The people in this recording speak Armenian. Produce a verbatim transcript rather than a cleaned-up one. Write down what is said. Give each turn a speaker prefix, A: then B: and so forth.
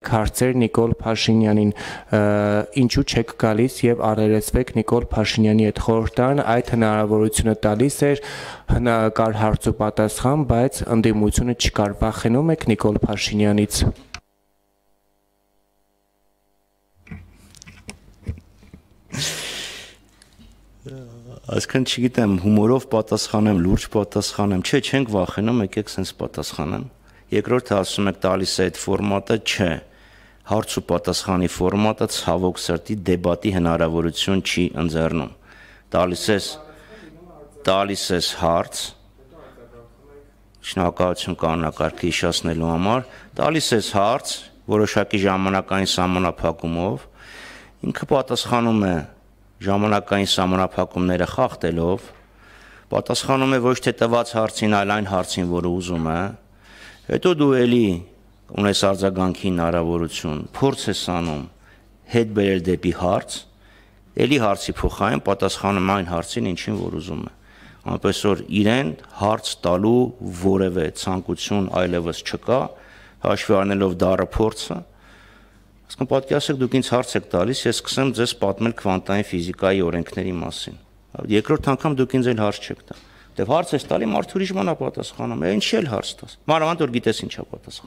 A: քարծեր Նիկոլ Փաշինյանին, ինչու չեք գալիս եւ առերեսվեք Նիկոլ Փաշինյանի հետ։ Խորհրդան այդ հնարավորությունը տալիս էր, կար հարց ու պատասխան, բայց ընդդիմությունը չկար։ Վախենում եք Նիկոլ Փաշինյանից։
B: Այսքան չգիտեմ, հումորով պատասխանեմ, լուրջ պատասխանեմ, չէ, չենք վախենում, եկեք սենց պատասխանեմ։ Երկրորդը ասում եք տալիս է այդ ֆորմատը, չէ, հարց ու պատասխանի ֆորմատը ցավոք սրտի դեբատի հնարավորություն չի ընձեռնում։ Տալիս ես տալիս ես հարց, շնորհակալություն կանոնակարգը հիշեցնելու համար, տալիս ես հարց, որոշակի ժամանակային սահմանափակումով, ինքը պատասխանում է ժամանակային սահմանափակումները խախտելով, պատասխանում է ոչ թե տված հարցին, այլ այն հարցին, որը ուզում է, հետո դու էլի ունես արձագանքի հնարավորություն, փորձ ես անում հետ բերել դեպի հարց, էլի հարցի փոխարեն պատասխանում այն հարցին, ինչին որ ուզում է։ Այնպես որ իրեն հարց տալու որևէ ցանկություն այլևս չկա, հաշվի առնելով դառը փորձը, ասկան պատկերացրեք դուք ինձ հարց եք տալիս, ես սկսեմ ձեզ պատմել քվանտային ֆիզիկայի օրենքների մասին։ Երկրորդ անգամ դուք ինձ էլ հարց չեք տա։ Դե հարց ես տալի, մարդը ուրիշ բան է պատասխանում, ինչի՞ էլ հարց տաս։ Մանավանդ որ գիտես ինչա պատասխանում։